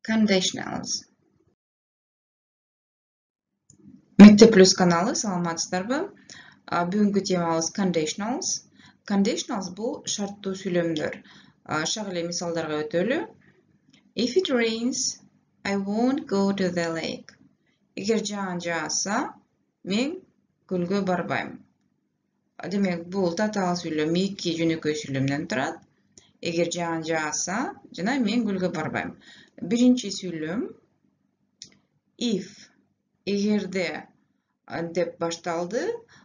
Conditionals. Мектеп плюс каналы, саламатсыздарбы? Бүгүнкү темабыз conditionals. Conditionals бул шарттуу сүйлөмдөр. Шак эле мисалдарга өтөлү. If it rains, I won't go to the lake. Эгер жаан жааса, мен көлгө барбайм. Демек, бул татаал сүйлөм, эки жөнөкөй сүйлөмдөн турат. Эгер жаан жааса, жана мен көлгө барбайм. Биринчи сүйлөм if, эгерде деп башталды,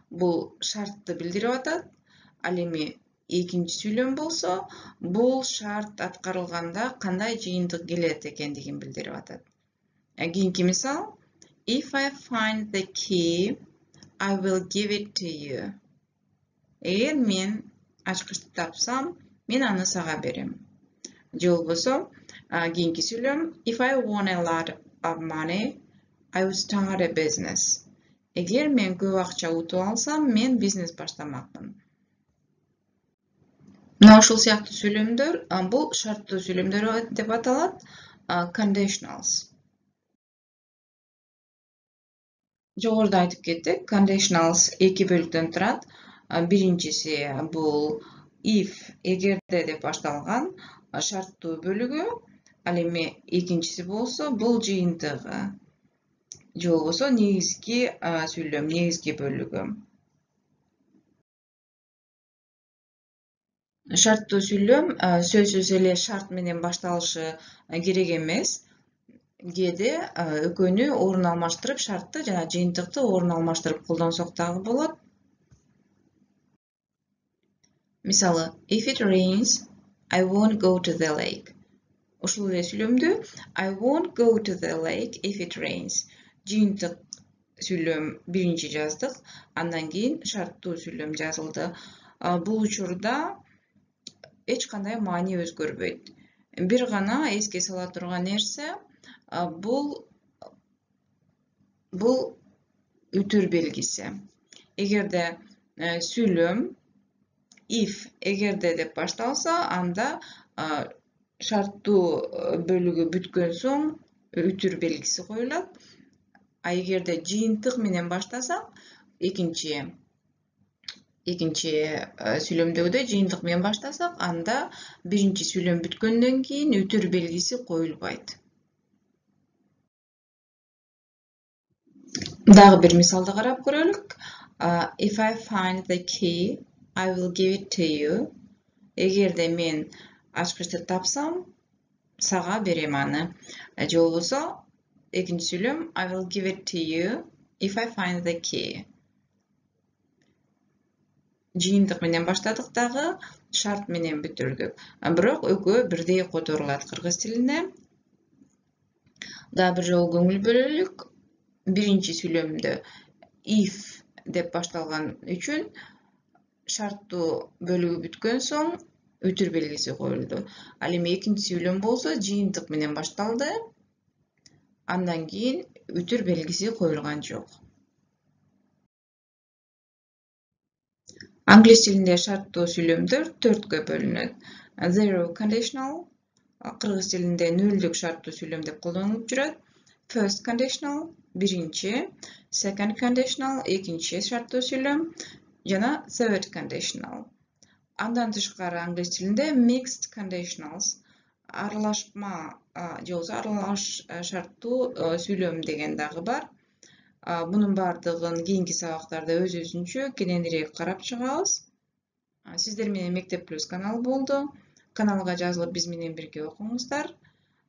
бул шартты билдирип атат. Ал эми экинчи сүйлөм болсо, бул шарт аткарылганда кандай жыйынтык келет экендигин билдирип атат. Кийинки мисал: If I find the key, I will give it to you. Эгер мен ачкычты тапсам, мен аны сага берем. Же болбосо, кийинки сүйлөм: If I won a lot of money, I will start a business. Эгер мен көп акча утуп алсам, мен бизнес баштамакмын. Мына ушул сыяктуу сүйлөмдөр, бул шарттуу сүйлөмдөр деп аталат, conditionals. Жогоруда айтып кеттик, conditionals эки бөлүктөн турат. Биринчиси бул if, эгерде деп башталган шарттуу бөлүгү, ал эми экинчиси болсо бул жыйынтыгы. Же болбосо негизги сүйлөм, негизги бөлүгү. Шарттуу сүйлөм сөзсүз эле шарт менен башталышы керек эмес. Кээде экөөнү орун алмаштырып, шартты жана жыйынтыкты орун алмаштырып колдонсок дагы болот. Мисалы, if it rains, I won't go to the lake. Ушул эле сүйлөмдү I won't go to the lake if it rains. Жыйынтык сүйлөм биринчи жаздык, андан кийин шарттуу сүйлөм жазылды. Бул учурда эч кандай маани өзгөрбөйт. Бир гана эске сала турган нерсе, бул үтүр белгиси. Эгерде сүйлөм if, эгерде деп башталса, анда шарттуу бөлүгү бүткөн соң үтүр белгиси коюлат. Эгерде жыйынтык менен баштасак, экинчи сүйлөмдөгүдөй жыйынтык менен баштасак, анда биринчи сүйлөм бүткөндөн кийин үтүр белгиси коюлбайт. Дагы бир мисалды карап көрөлүк. If I find the key, I will give it to you. Эгерде мен ачкычты тапсам, сага берем аны. Же болбосо, экинчи сүйлөм I will give it to you if I find the key. Жыйынтык менен баштадык дагы, шарт менен бүтүрдүк. Бирок экөө бирдей которулат кыргыз тилинде. Дагы бир жолу көңүл бөлөлүк. Биринчи сүйлөмдө if деп башталган үчүн шарттуу бөлүгү бүткөн соң үтүр белгиси коюлду. Ал эми экинчи сүйлөм болсо жыйынтык менен башталды, андан кийин үтүр белгиси коюлган жок. Англис тилинде шарттуу сүйлөмдөр төрткө бөлүнөт. Zero conditional, кыргыз тилинде нөлдүк шарттуу сүйлөм деп колдонулуп жүрөт. First conditional, биринчи, second conditional, экинчи шарттуу сүйлөм, жана third conditional. Андан тышкары англис тилинде mixed conditionals, аралашма, же болбосо аралаш шарттуу сүйлөм деген дагы бар. Бунун бардыгын кийинки сабактарда өз-өзүнчө кененирээк карап чыгабыз. Сиздер менен Мектеп плюс канал болду. Каналга жазылып биз менен бирге окуңуздар.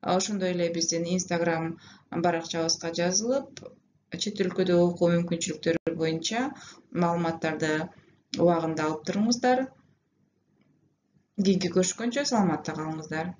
Ошондой эле биздин Instagram баракчабызга жазылып, чет өлкөдө окуу мүмкүнчүлүктөрү боюнча маалыматтарды убагында алып туруңуздар. Кийинки көрүшкөнчө саламатта калыңыздар.